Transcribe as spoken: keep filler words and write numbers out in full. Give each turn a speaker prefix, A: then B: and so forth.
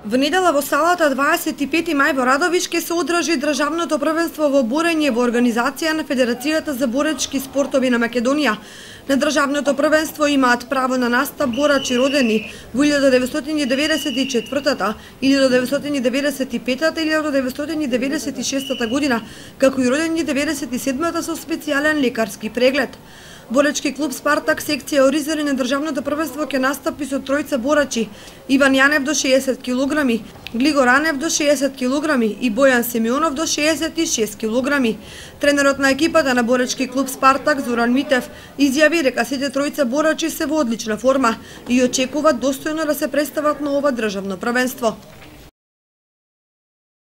A: Во недела во салата дваесет и пети мај во Радовиш ќе се одржи државното првенство во борење во организација на Федерацијата за боречки спортови на Македонија. На државното првенство имаат право на настап борачи родени во илјада деветстотини деветдесет и четвртата, илјада деветстотини деветдесет и петата и илјада деветстотини деветдесет и шестата година, како и родени деветдесет и седмата со специјален лекарски преглед. Боречки клуб Спартак секција Оризари на државното првенство ќе настапи со тројца борачи: Иван Јанев до шеесет килограми, Глигор Анев до шеесет килограми и Бојан Семионов до шеесет и шест килограми. Тренерот на екипата на боречки клуб Спартак Зоран Митев изјави дека сите тројца борачи се во одлична форма и очекуваат достојно да се представат на ова државно првенство.